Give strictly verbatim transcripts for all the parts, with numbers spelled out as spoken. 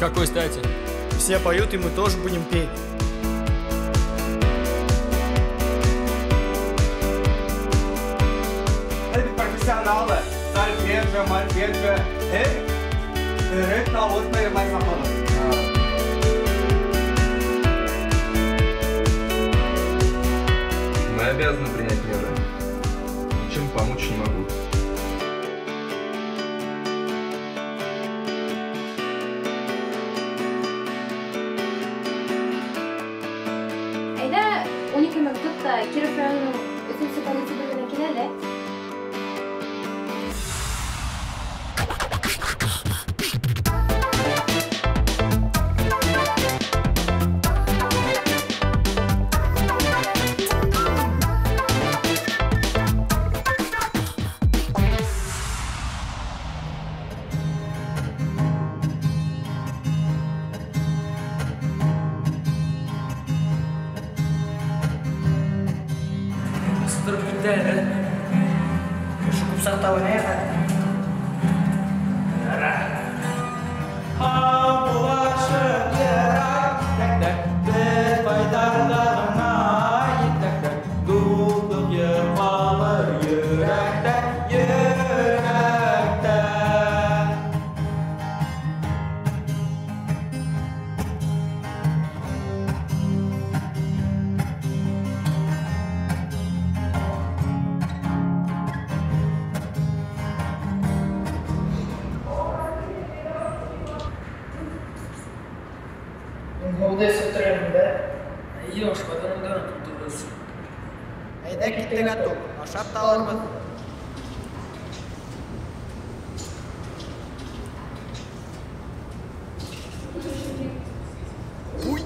Какой стати? Все поют, и мы тоже будем петь. Это профессионалы. Сольфеджио, мольфеджио. Мы обязаны принять меры. Ничем помочь не могу. Әйҙә, ун ике мең тот та Киров районының өсөнсө полиция бүлегенә кил әле. Әйҙә киттек, ату, ашап та алырбыҙ. Уй!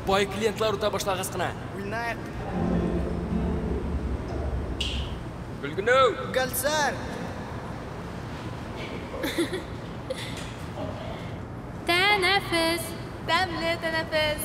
Бай клиентлар үтә башлағас ҡына. Уйнайыҡ. Гөлгөнәү! Гөлсәр! Тәнәфес! Тәмле тәнәфес!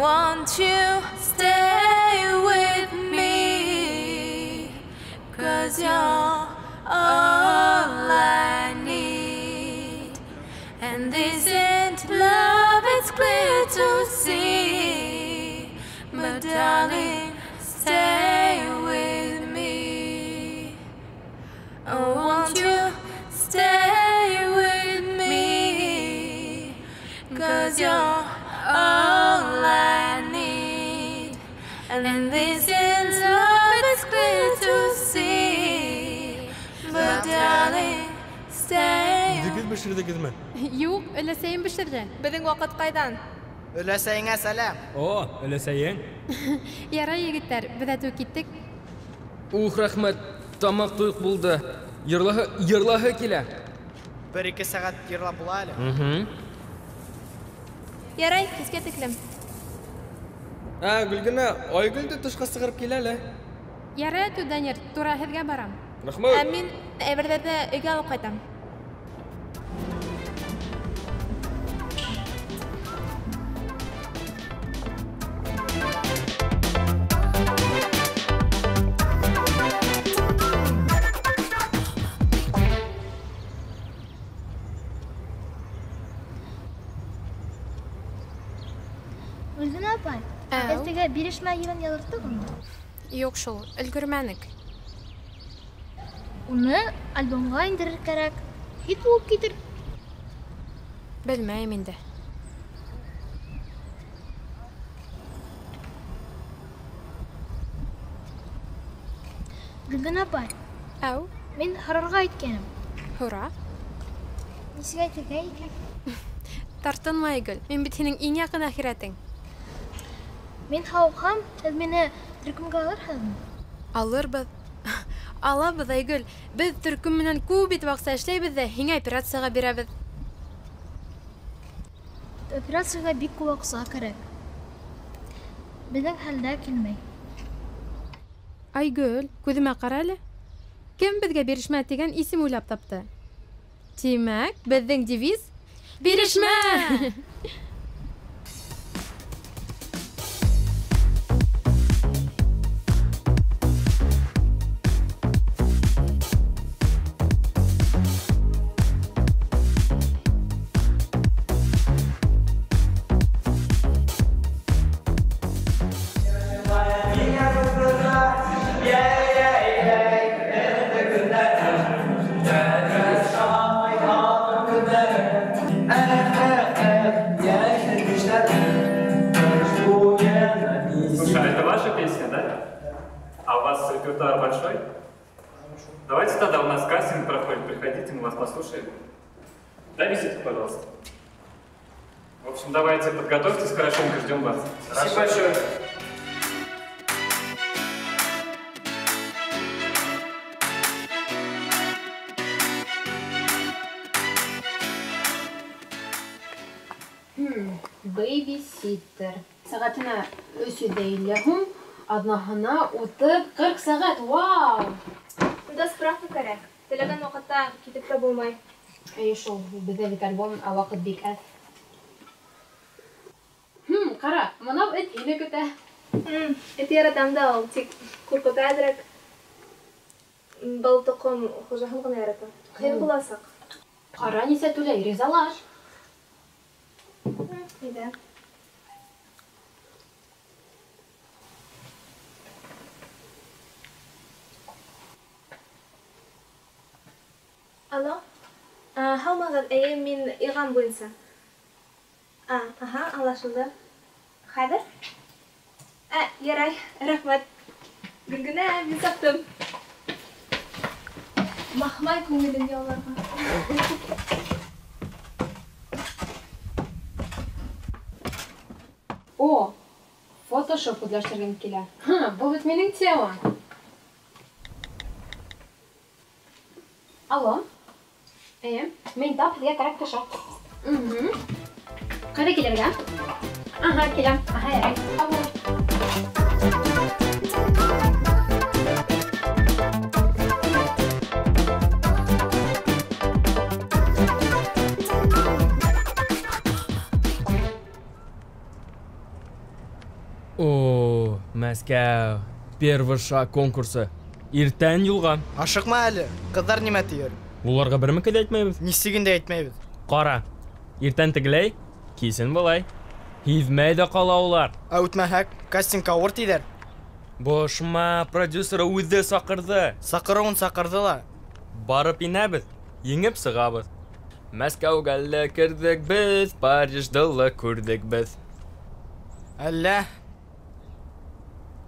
Won't you stay with me? 'Cause you're all I need. And this ain't love, it's clear to see. But darling, stay with me. Oh, won't you stay with me? 'Cause you're all I need. And this is love, it's clear to see. But darling, stay. Үҙегеҙ бешерҙегеҙме? Юҡ, өләсәйем бешерҙе. Беҙҙең ваҡыт ҡайҙан? Өләсәйеңә сәләм. О, өләсәйең. Ярай, егеттәр, беҙ әтеү киттек. Ух, рәхмәт, тамаҡ туйыҡ булды. Йырлаһы, йырлаһы килә. Бер-ике сәғәт йырлап була әле. Ярай, кискә тиклем. Ә, Гөлгенә, Айгөл дә тышҡа сығарып килә әле. Ярай, әтеү, Данир, тура һеҙгә барам. Рәхмәт. Ә мин әйберҙәрҙе өйгә алып ҡайтам. Гөлгенә апай, иртәгә бирешмә йырын яҙырттығыҙмы? Юҡ шул, өлгөрмәнек. Уны альбомға индерер кәрәк. Хит булып китер. Белмәйем инде. Гөлгенә апай. Әү? Мин һорарға иткәнем. Һора. Нисек әйтергә икән? Тартынма, Айгөл, мин бит һинең иң яҡын әхирәтең. Мин һауыҡһам, һеҙ мине төркөмгә алырһығыҙмы? Алырбыҙ. Алабыҙ, Айгөл. Беҙ төркөм менән күп итеп аҡса эшләйбеҙ ҙә һиңә операцияға бирәбеҙ. Операцияға бик күп аҡса кәрәк. Беҙҙең хәлдә килмәй. Айгөл, күҙемә ҡара әле. Кем беҙгә бирешмә тигән исем уйлап тапты? Тимәк, беҙҙең девиз Бирешмә! Давайте тогда у нас кастинг проходит, приходите, мы вас послушаем. Дай визитку, пожалуйста. В общем, давайте подготовьтесь хорошенько, ждем вас. Спасибо большое. Бэйбиситтер. Сәғәтенә өс йөҙ илле һум, аҙнаһына утыҙ ҡырҡ сәғәт. Вау! Унда справка кәрәк. Теләгән ваҡытта китеп тә булмай. Эйе шул, беҙҙә бит альбом, ә ваҡыт бик әҙ. Хм, ҡара, мынау эт һине көтә. Эт яратам да ул, тик ҡурҡыта әҙерәк. Был тоҡом хужаһын ғына ярата. Ҡыйын буласаҡ. Ҡара, нисә түләй, ризалаш. Әйҙә. Алло, һаумығыҙ, эйе, мин иғлан буйынса. А, аһа, аңлашылды. Хәҙер? Ә, ярай, рәхмәт. Гөлгенә, мин сыҡтым. Махмай күңелен яуларға. О, фотошоп үҙләштергем килә. Ха, был бит минең тема. Алло. Эйе, мин тап һеҙгә кәрәк кеше. Угу. Ҡайҙа килергә? Аһа, киләм. Аһа, ярай. Алло. О, Мәскәү. Первый шаг конкурсы. Иртән юлға. Ашыҡма әле. Ҡыҙҙар нимә тиер? Уларға бер меке дә әйтмәйбеҙ. Нисеген дә әйтмәйбеҙ. Ҡара, иртән тегеләй, кисен былай. Һиҙмәй ҙә ҡала улар. Ә үтмәһәк, кастинг ауыр тиҙәр. Бошма, продюсер үҙе саҡырҙы. Саҡырыуын саҡырҙы ла. Барып инәбеҙ, еңеп сығабыҙ. Мәскәүгә лә керҙек беҙ, Парижды ла күрҙек беҙ. Әллә?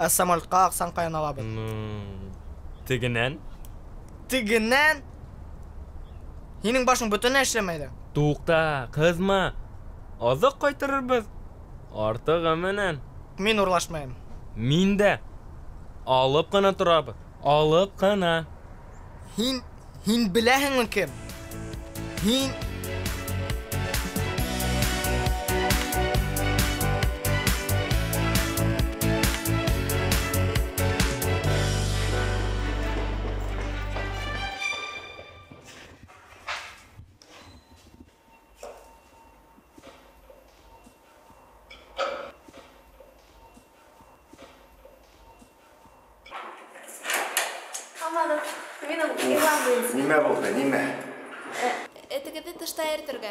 Ә самолетҡа аҡсаны ҡайҙан алабыҙ? Тегенән? Тегенән? Һинең башың бөтөнләй эшләмәй ҙә. Туҡта, ҡыҙма. Аҙыҡ ҡайтарырбыҙ. Артығы менән. Мин урлашмайым. Мин дә. Алып ҡына торабыҙ. Алып ҡына. Һин, һин беләһеңме кем? Һин... Нимә булды, нимә? Этегеҙҙе тышта йөрөтөргә.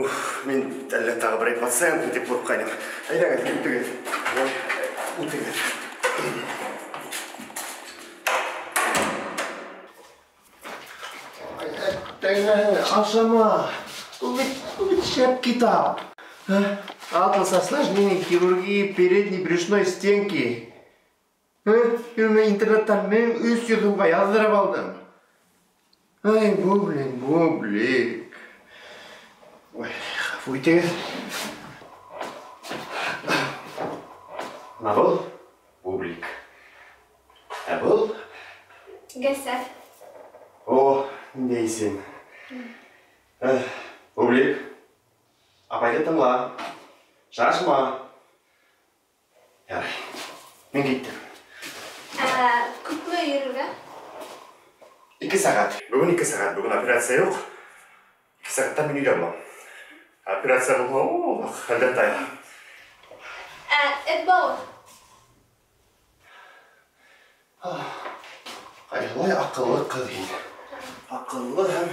Уф, мин әллә тағы берәй пациент тип ҡурҡҡайным. Әйҙәгеҙ, киттегеҙ. Үтегеҙ. Ашама. Ул бит, ул бит шәп китап. Атлас осложнений хирургии передней брюшной стенки. Мин интернеттан мең өс йөҙ һумға яҙҙырып алдым. Ай, бублик, бублик. Ой, ғәфү итегеҙ. Бына был бублик. Ә был? Гәсәр. О, ниндәй исем. Бублик, апайҙы тыңла. Шашма. Ярай, мин киттем. Ә, күпме йөрөргә? Ике сәғәт. Бөгөн ике сәғәт. Бөгөн операция юҡ. Ике сәғәттән мин өйҙә булам. Операция булһа, о, хәлдән тая. Ә, эт бауыр. Ҡайһылай аҡыллы ҡыҙ һин. Аҡыллы һәм...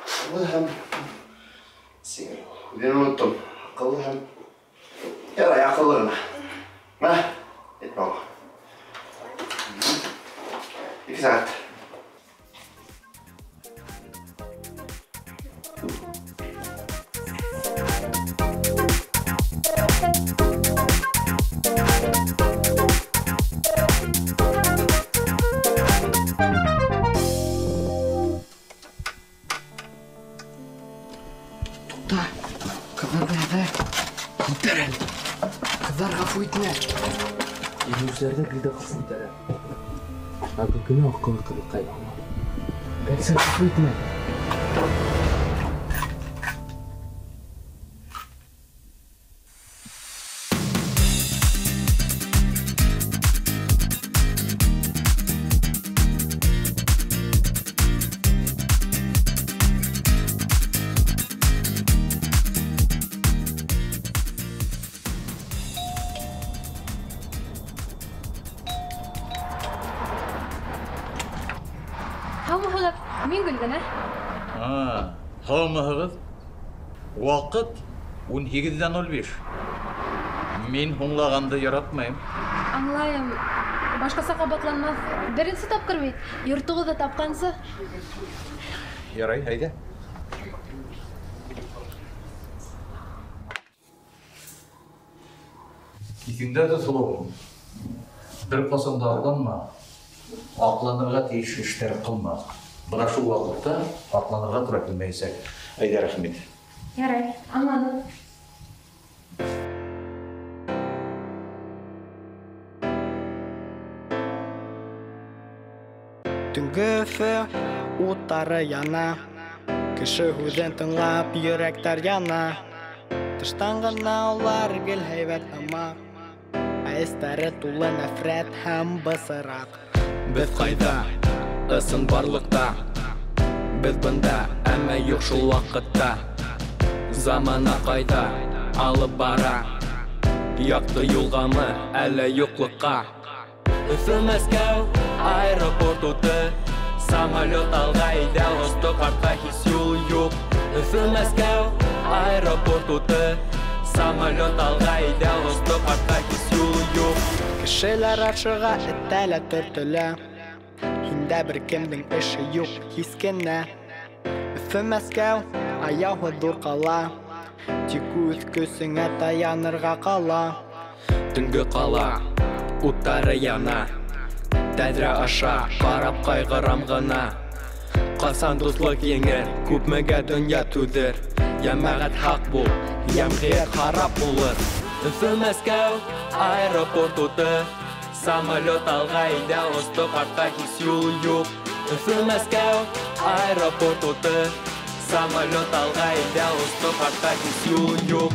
Аҡыллы һәм... Сиңер, үҙен оноттом. Аҡыллы һәм... Ярай, аҡыллы ғына. Мә, эт бауыр. Ике сәғәт. Туҡта, ҡыҙҙарҙы әҙә. Күтәр әле. Ҡыҙҙар ғәфү итмә. Еңеүселәрҙе гел дә ғәфү итәләр. Ә Гөлгөнә аҡыллы ҡыҙыҡай аңла. Бәлсә ғәфү итмә. Һаумыһығыҙ, мин Гөлгөнә. А, һаумыһығыҙ. Ваҡыт ун һигеҙҙә ноль биш. Мин һуңлағанды яратмайым. Аңлайым, башҡаса ҡабатланмаҫ. Беренсе тапҡыр бит, йортоғоҙҙо тапҡансы. Ярай, әйҙә. Иҫеңдә тот, һылыуым. Бер ҡасан да алданма. Аҡланырға тейеш эштәр ҡылма. Бына шул ваҡытта аҡланырға тура килмәйәсәк. Әйҙә, рәхмәт. Ярай, аңланым. Төнгө Өфө уттары яна. Кеше һүҙен тыңлап йөрәктәр яна. Тыштан ғына улар гел һәйбәт һымаҡ. Ә эстәре тулы нәфрәт һәм бысыраҡ. Беҙ ҡайҙа? Ысын барлыҡта. Беҙ бында, әммә юҡ шул ваҡытта. Замана ҡайҙа алып бара? Яҡты юлғамы, әллә юҡлыҡҡа? Өфө, Мәскәү, аэропорт уты. Самолет алға әйҙә, осто артҡа һис юл юҡ. Өфө, Мәскәү, аэропорт уты. Самолет алға әйҙә, осто артҡа һис юл юҡ. Кешеләр ашыға, этәлә, төртөлә. Һиндә бер кемдең эше юҡ, һис кенә. Өфө, Мәскәү, аяуһыҙ ҙур ҡала. Тик үҙ көсөңә таянырға ҡала. Төнгө ҡала, уттары яна. Тәҙрә аша ҡарап ҡайғырам ғына. Ҡасан дуҫлыҡ еңер, күпмегә донъя түҙер. Йәмәғәт һаҡ бул, йәмғиәт харап булыр. Өфө, Мәскәү, аэропорт уты. Самолет алға әйҙә, осто артҡа һис юл юҡ. Өфө, Мәскәү, аэропорт уты. Самолет алға әйҙә, осто артҡа һис юл юҡ.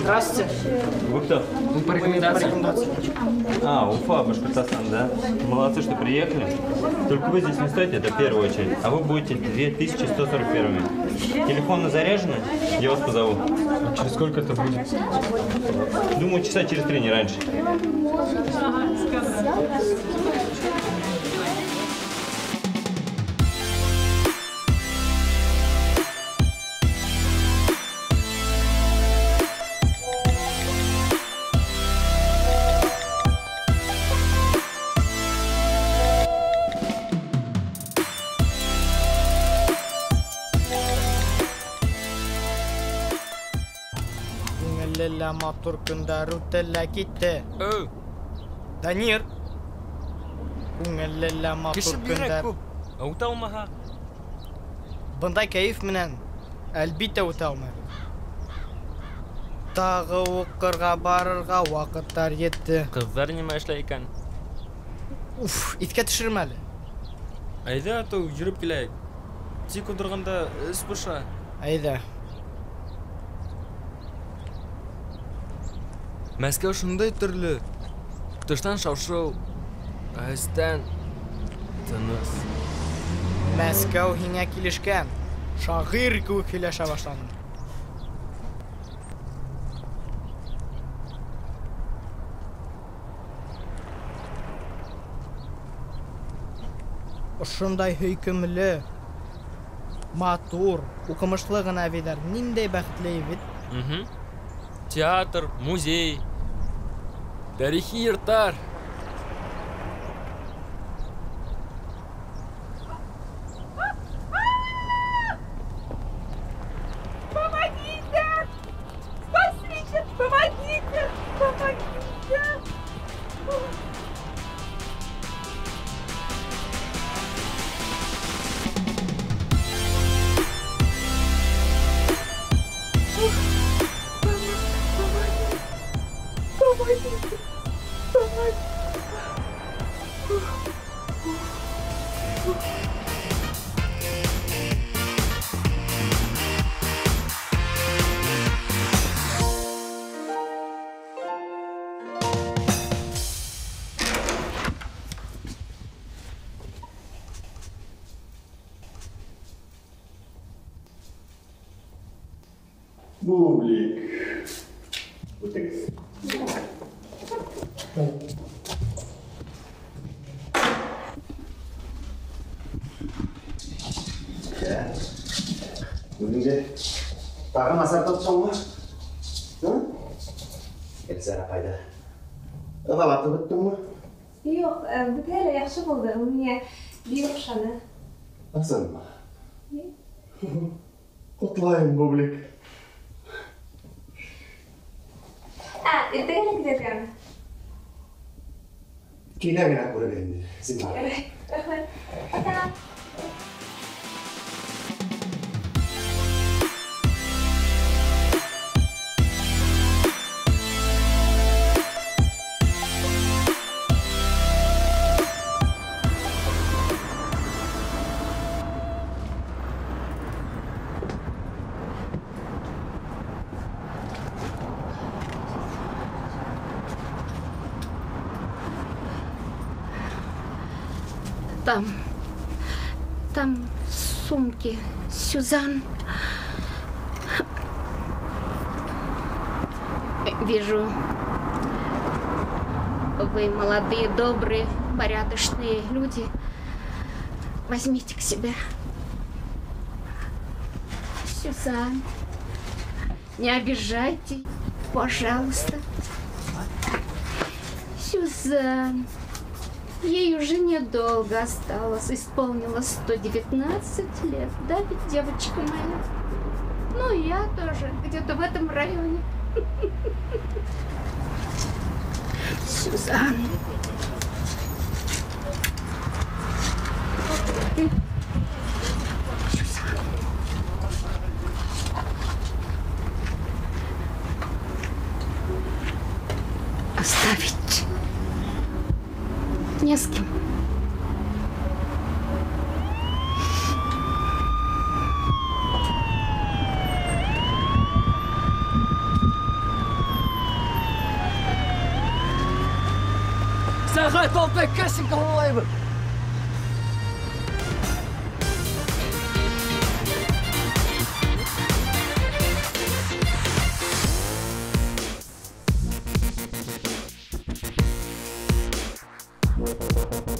Здравствуйте. Вы кто? Мы по рекомендации. А, Уфа, Башкортостан, да? Молодцы, что приехали. Только вы здесь не стоите, это первая очередь. А вы будете две тысячи сто сорок первыми. Телефоны заряжены? Я вас позову. А через сколько это будет? Думаю, часа через три, не раньше. Күңелле лә матур көндәр үтте лә китте. Өй. Данир. Күңелле лә матур Кеше бигерәк көндәр. күп. Ә үтә алмаһа? Бындай кәйеф менән әлбиттә үтә алмайбыҙ. Тағы уҡырға барырға ваҡыттар етте. Ҡыҙҙар нимә эшләй икән? Уф, иҫкә төшөрмә әле. Әйҙә, атыу, йөрөп киләйек. Тик ултырғанда эс боша. Әйҙә. Мәскәү шундай төрлө. Тыштан шау-шыу, ә эстән тыныс. Мәскәү һиңә килешкән. Шағир кеүек һөйләшә башланың. Ошондай һөйкөмлө, матур, уҡымышлы ғына әбейҙәр ниндәй бәхетле бит. Мхм. Театр, музей, тарихи йорттар. Помогите! Спасите! Помогите! Помогите! Помогите! Помогите! Бублик. Үтегеҙ. Үҙеңде тағы насар тотһоңмо? Эльзара апайҙы ыҙалатып бөттөңмө? Юҡ, бөтәһе лә яҡшы булды. Ул миңә бик оҡшаны. Ысынмы? Ҡотлайым, Бублик. Ә, иртәгә лә китергәме? Килә генә күрергә инде, зинһар. Рәхмәт. Пока. Там, там сумки, Сюзан. Вижу, вы молодые, добрые, порядочные люди. Возьмите к себе. Сюзан, не обижайте, пожалуйста. Сюзан. Ей уже недолго осталось, исполнилось сто девятнадцать лет, да ведь, девочка моя? Ну, и я тоже, где-то в этом районе. Сюзан. Сюзан. Оставить не с кем. Сәғәт алты, кастинг тамамлайбыҙ. Thank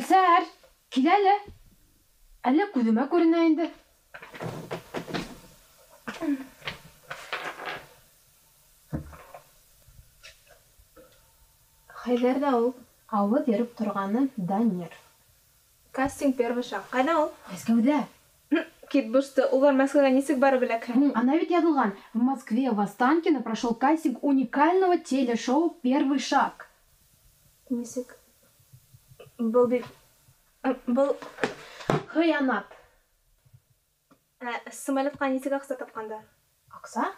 Гөлсәр, кил әле. Әллә күҙемә күренә инде. Хәйҙәр ҙә ул. Ауыҙ йырып торғаны Данир. Кастинг первый шаг. Ҡайҙа ул? Мәскәүҙә. Кит бушты. Улар Мәскәүгә нисек барып эләкһен? Ана ведь яҙылған. В Москве в Останкино прошел кастинг уникального телешоу «Первый шаг». Нисек? Был бит... Был... Хыянат. Ә, самолетҡа нисек аҡса тапҡандар? Аҡса?